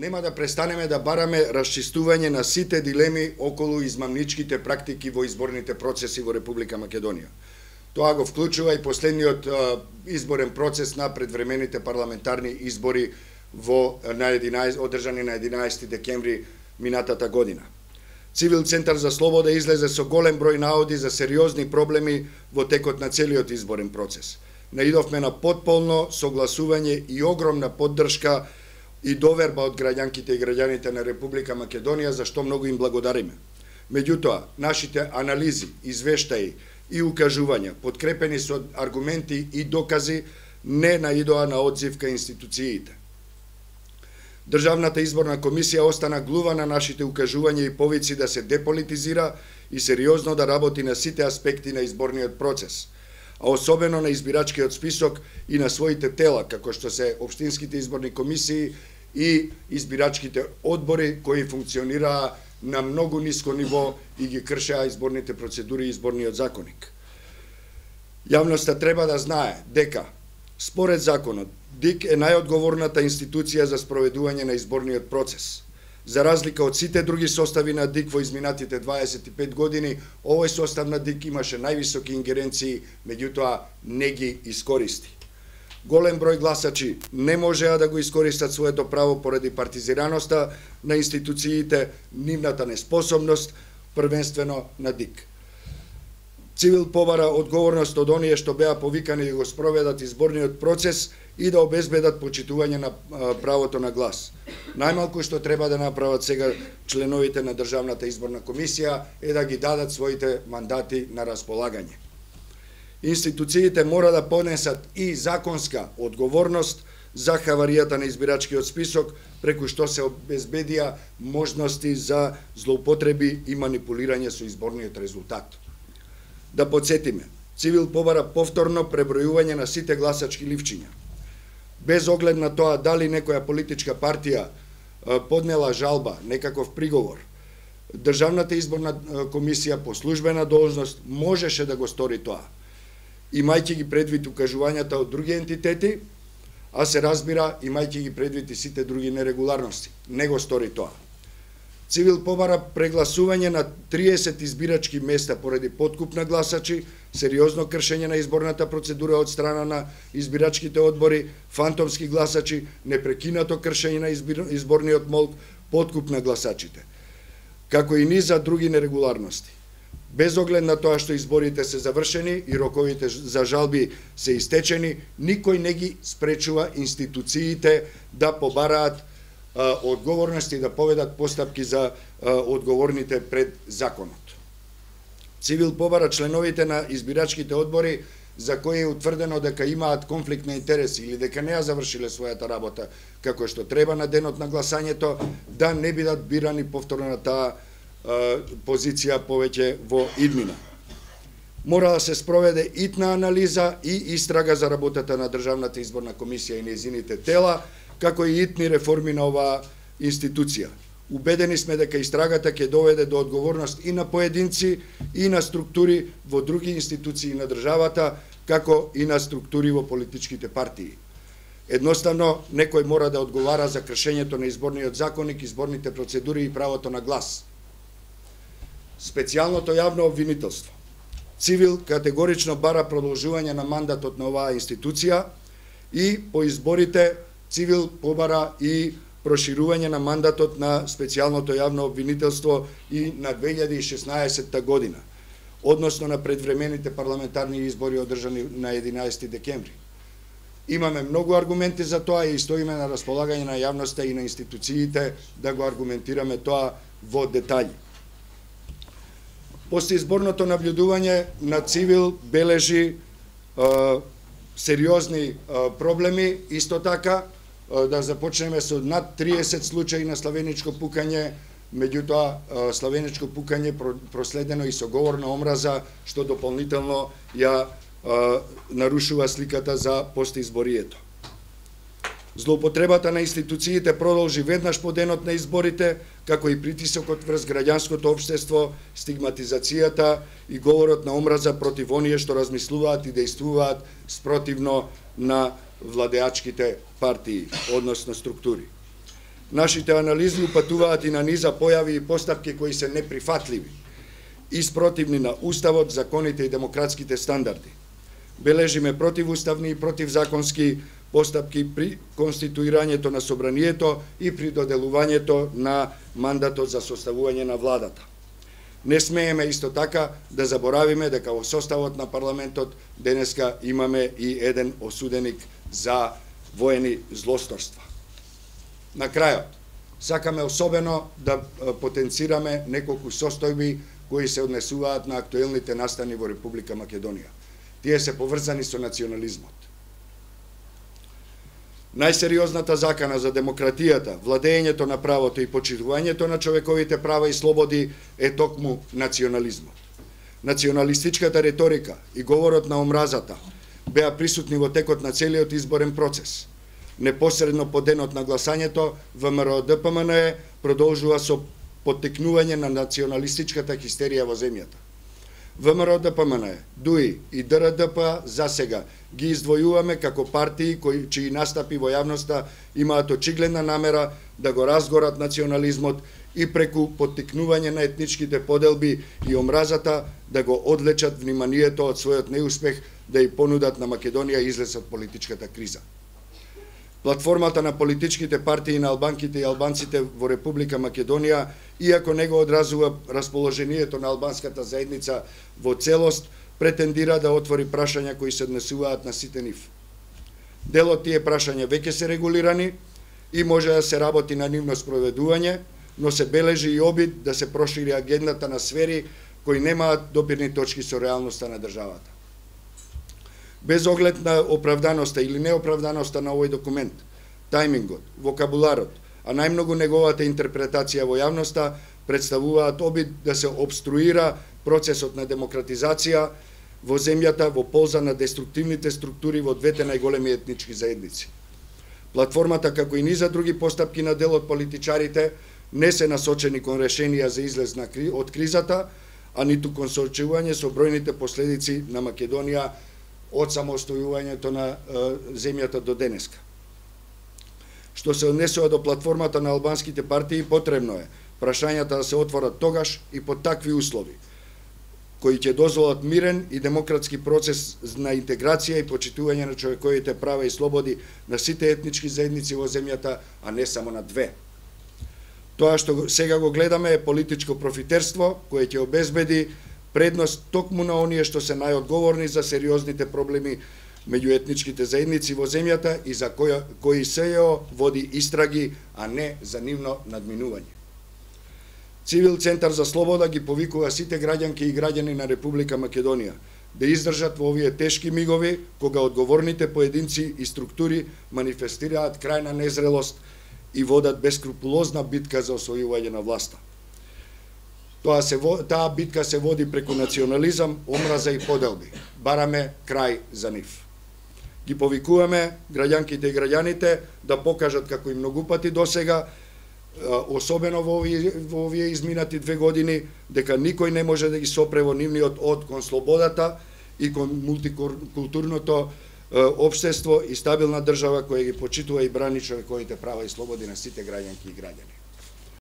нема да престанеме да бараме расчистување на сите дилеми околу измамничките практики во изборните процеси во Република Македонија. Тоа го вклучува и последниот изборен процес на предвремените парламентарни избори одржани на 11 декември минатата година. Цивил Центар за слобода излезе со голем број наоди за сериозни проблеми во текот на целиот изборен процес. Наидовме на потполно согласување и огромна поддршка и доверба од граѓанките и граѓаните на Република Македонија, за што многу им благодариме. Меѓутоа, нашите анализи, извештаи и укажувања, подкрепени со аргументи и докази, не наидоа на одзив кај институциите. Државната изборна комисија остана глува на нашите укажувања и повици да се деполитизира и сериозно да работи на сите аспекти на изборниот процес, а особено на избирачкиот список и на своите тела, како што се општинските изборни комисии и избирачките одбори кои функционираа на многу ниско ниво и ги кршеа изборните процедури и изборниот законник. Јавноста треба да знае дека, според законот, ДИК е најодговорната институција за спроведување на изборниот процес. За разлика од сите други состави на ДИК во изминатите 25 години, овој состав на ДИК имаше највисоки ингеренции, меѓутоа не ги искористи. Голем број гласачи не можеа да го искористат своето право поради партизираноста на институциите, нивната неспособност, првенствено на ДИК. Цивил побара одговорност од оние што беа повикани да го спроведат изборниот процес и да обезбедат почитување на правото на глас. Најмалку што треба да направат сега членовите на Државната изборна комисија е да ги дадат своите мандати на располагање. Институциите мора да понесат и законска одговорност за хаваријата на избирачкиот список, преку што се обезбедија можности за злоупотреби и манипулирање со изборниот резултат. Да подсетиме, Цивил побара повторно пребројување на сите гласачки ливчиња. Без оглед на тоа дали некоја политичка партија поднела жалба, некаков приговор, Државната изборна комисија по службена должност можеше да го стори тоа, имајќи ги предвид укажувањата од други ентитети, а се разбира, имајќи ги предвид и сите други нерегуларности. Не го стори тоа. Цивил побара прегласување на 30 избирачки места поради подкуп на гласачи, сериозно кршење на изборната процедура од страна на избирачките одбори, фантомски гласачи, непрекинато кршење на изборниот молк, подкуп на гласачите, како и низа други нерегуларности. Без оглед на тоа што изборите се завршени и роковите за жалби се истечени, никој не ги спречува институциите да побараат одговорности и да поведат постапки за одговорните пред законот. Цивил побара членовите на избирачките одбори за кои е утврдено дека имаат конфликт на интереси или дека не ја завршиле својата работа како што треба на денот на гласањето, да не бидат бирани повторно на таа позиција повеќе во иднина. Мора да се спроведе итна анализа и истрага за работата на Државната изборна комисија и нејзините тела, како и итни реформи на оваа институција. Убедени сме дека истрагата ќе доведе до одговорност и на поединци и на структури во други институции на државата, како и на структури во политичките партии. Едноставно, некој мора да одговара за кршењето на изборниот законник, изборните процедури и правото на глас. Специјалното јавно обвинителство. Цивил категорично бара продолжување на мандатот на оваа институција и по изборите Цивил побара и проширување на мандатот на специјалното јавно обвинителство и на 2016 година, односно на предвремените парламентарни избори одржани на 11 декември. Имаме многу аргументи за тоа и стоиме на располагање на јавноста и на институциите да го аргументираме тоа во детаљи. Постизборното наблюдување на Цивил бележи сериозни проблеми, исто така да започнеме со над 30 случаи на славеничко пукање, меѓутоа славеничко пукање проследено и со говор на омраза, што дополнително ја нарушува сликата за постизборието. Злоупотребата на институциите продолжи веднаш по денот на изборите, како и притисокот врз граѓанското општество, стигматизацијата и говорот на омраза против оние што размислуваат и действуваат спротивно на владеачките партии, односно структури. Нашите анализи упатуваат и на низа појави и постапки кои се неприфатливи и спротивни на Уставот, законите и демократските стандарди. Бележиме противуставни и противзаконски постапки при конституирањето на собранието и при доделувањето на мандатот за составување на владата. Не смееме исто така да заборавиме дека во составот на парламентот денеска имаме и еден осуденик за воени злосторства. На крајот, сакаме особено да потенцираме неколку состојби кои се однесуваат на актуелните настани во Република Македонија. Тие се поврзани со национализмот. Најсериозната закана за демократијата, владењето на правото и почитувањето на човековите права и слободи е токму национализмот. Националистичката реторика и говорот на омразата беа присутни во текот на целиот изборен процес. Непосредно по денот на гласањето, ВМРО-ДПМНЕ продолжува со поттикнување на националистичката хистерија во земјата. ВМРО-ДПМНЕ, ДУИ и ДРДП за сега ги издвојуваме како партии чии настапи во јавноста имаат очигледна намера да го разгорат национализмот и преку поттикнување на етничките поделби и омразата да го одлечат вниманието од својот неуспех да ја понудат на Македонија излез од политичката криза. Платформата на политичките партии на албанките и албанците во Република Македонија, иако не го одразува расположението на албанската заедница во целост, претендира да отвори прашања кои се однесуваат на сите нив. Дел од тие прашања веќе се регулирани и може да се работи на нивно спроведување, но се бележи и обид да се прошири агендата на сфери кои немаат допирни точки со реалноста на државата. Без оглед на оправданоста или неоправданоста на овој документ, тајмингот, вокабуларот, а најмногу неговата интерпретација во јавноста представуваат обид да се обструира процесот на демократизација во земјата во полза на деструктивните структури во двете најголеми етнички заедници. Платформата, како и низа други постапки на дел од политичарите, не се насочени кон решенија за излез од кризата, а ниту кон соочување со бројните последици на Македонија од самостојувањето на земјата до денеска. Што се однесува до платформата на албанските партии, потребно е прашањата да се отворат тогаш и под такви услови, кои ќе дозволат мирен и демократски процес на интеграција и почитување на човековите права и слободи на сите етнички заедници во земјата, а не само на две. Тоа што сега го гледаме е политичко профитерство, кое ќе обезбеди предност токму на оние што се најодговорни за сериозните проблеми меѓу етничките заедници во земјата и за кои СЈО води истраги, а не за нивно надминување. Цивил Центар за слобода ги повикува сите граѓанки и граѓани на Република Македонија да издржат во овие тешки мигови, кога одговорните поединци и структури манифестираат крајна незрелост и водат бескрупулозна битка за освојување на власта. Таа битка се води преку национализам, омраза и поделби. Бараме крај за нив. Ги повикуваме граѓанките и граѓаните да покажат, како и многу пати досега, особено во овие изминати 2 години, дека никој не може да ги сопре во нивниот од кон слободата и кон мултикултурното општество и стабилна држава која ги почитува и брани човековите права и слободи на сите граѓанки и граѓани.